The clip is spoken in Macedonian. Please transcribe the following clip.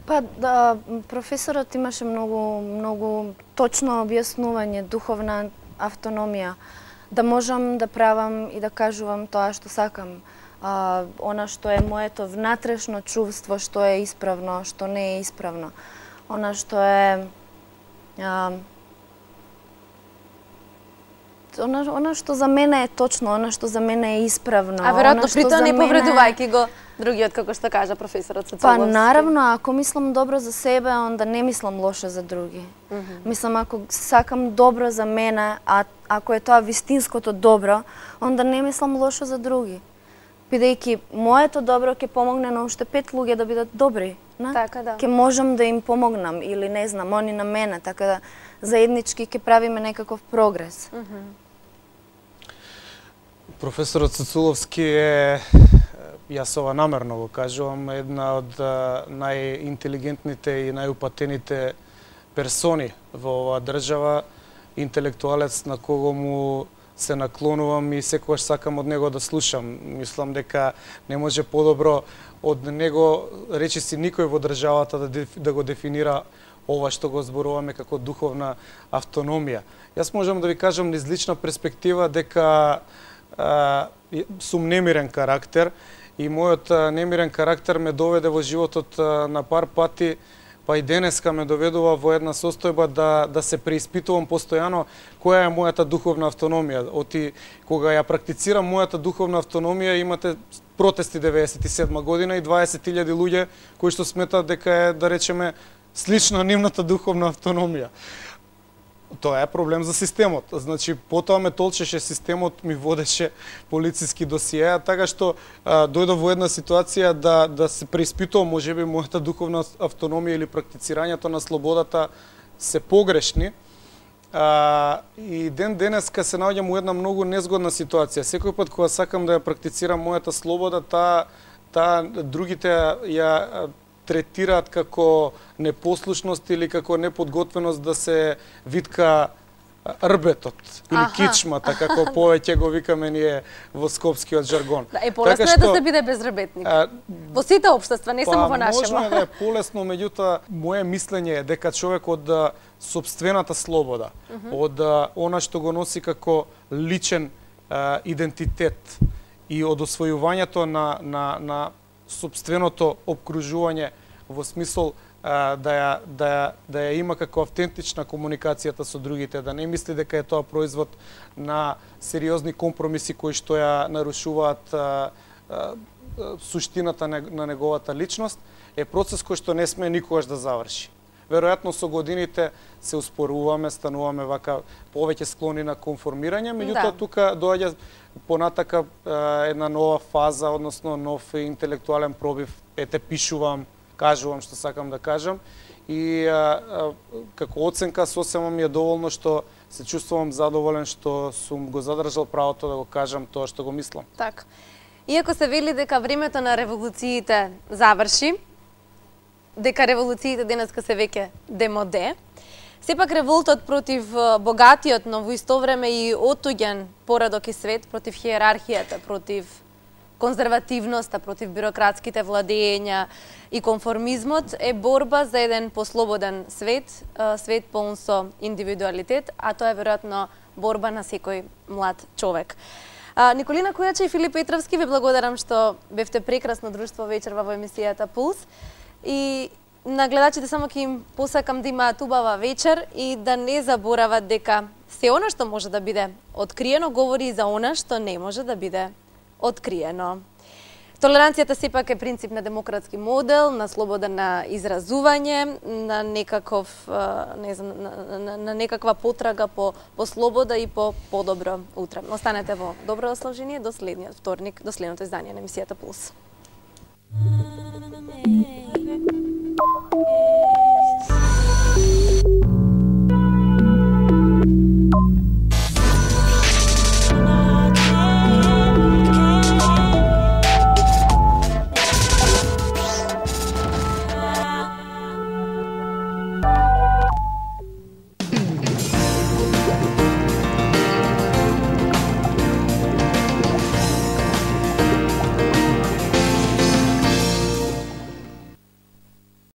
Па да, професорот имаше многу точно објаснување, духовна автономија, да можам да правам и да кажувам тоа што сакам. Она што е моето внатрешно чувство, што е исправно, што не е исправно. Она што е она што за мене е точно, она што за мене е исправно. А веројатно при тоа не повредувајќи го другиот, како што кажа професорот Цуцуловски. Па наравно, ако мислам добро за себе, онда не мислам лошо за други. Мислам, ако сакам добро за мене, а ако е тоа вистинското добро, онда не мислам лошо за други. Бидејќи моето добро ќе помогне на уште 5 луѓе да бидат добри. Така да. Ќе можам да им помогнам или не знам, они на мене, така да заеднички ќе правиме некаков прогрес. Професорот Цуцуловски е, јас ова намерно го кажувам, една од најинтелигентните и најупатените персони во оваа држава, интелектуалец на кого му се наклонувам и секогаш сакам од него да слушам. Мислам дека не може подобро од него, речиси, никој во државата да го дефинира ова што го зборуваме како духовна автономија. Јас можам да ви кажам низ лична перспектива дека сум немирен карактер и мојот немирен карактер ме доведе во животот на пар пати, па и денеска ме доведува во една состојба да се преиспитувам постојано која е мојата духовна автономија. Оти кога ја практицирам мојата духовна автономија, имате протести 97 година и 20.000 луѓе кои што сметаат дека е, да речеме, слична нивната духовна автономија. Тоа е проблем за системот. Значи, потоа ме толчеше системот, ми водеше полициски досиеа, така што дојдов во една ситуација да се преиспитувам, можеби мојата духовна автономија или практицирањето на слободата се погрешни. И денеска се наоѓам во една многу незгодна ситуација. Секој пат кога сакам да ја практицирам мојата слобода, таа другите ја третираат како непослушност или како неподготвеност да се витка рбетот или кичмата, како повеќе го викаме ние во скопскиот жаргон. Да, полесно е да се биде безрбетник. Во сите општества, не само во нашето. Можно да е полесно, меѓутоа моје мислење е дека човек од сопствената слобода, од она што го носи како личен идентитет и од освојувањето на сопственото обкружување во смисол да ја има како автентична комуникацијата со другите, да не мисли дека е тоа производ на сериозни компромиси кои што ја нарушуваат суштината на неговата личност, е процес кој што не сме никогаш да заврши. Веројатно со годините се успоруваме, стануваме вака повеќе склони на конформирање, меѓутоа тука доаѓа понатака една нова фаза, односно нов интелектуален пробив. Ете, пишувам, кажувам што сакам да кажам и како оценка сосема ми е доволно што се чувствувам задоволен што сум го задржал правото да го кажам тоа што го мислам. Така. Иако се вели дека времето на револуциите заврши, дека револуциите денеска се веќе демоде, сепак револтот против богатиот, но во исто време и отуѓен поредок и свет, против хиерархијата, против конзервативноста, против бюрократските владења и конформизмот е борба за еден послободен свет, свет полн со индивидуалитет, а тоа е веројатно борба на секој млад човек. Николина Кујача и Филип Петровски, ви благодарам што бевте прекрасно друштво вечерва во емисијата Пулс. И на гледачите само ќе им посакам да имаат убава вечер и да не заборават дека се она што може да биде откриено говори и за она што не може да биде откриено. Толеранцијата сепак е принцип на демократски модел, на слобода на изразување, на некаков, не знам, на некаква потрага по слобода и по подобро утре. Останете во добро расположение до следниот вторник, до следното издание на емисијата Пулс.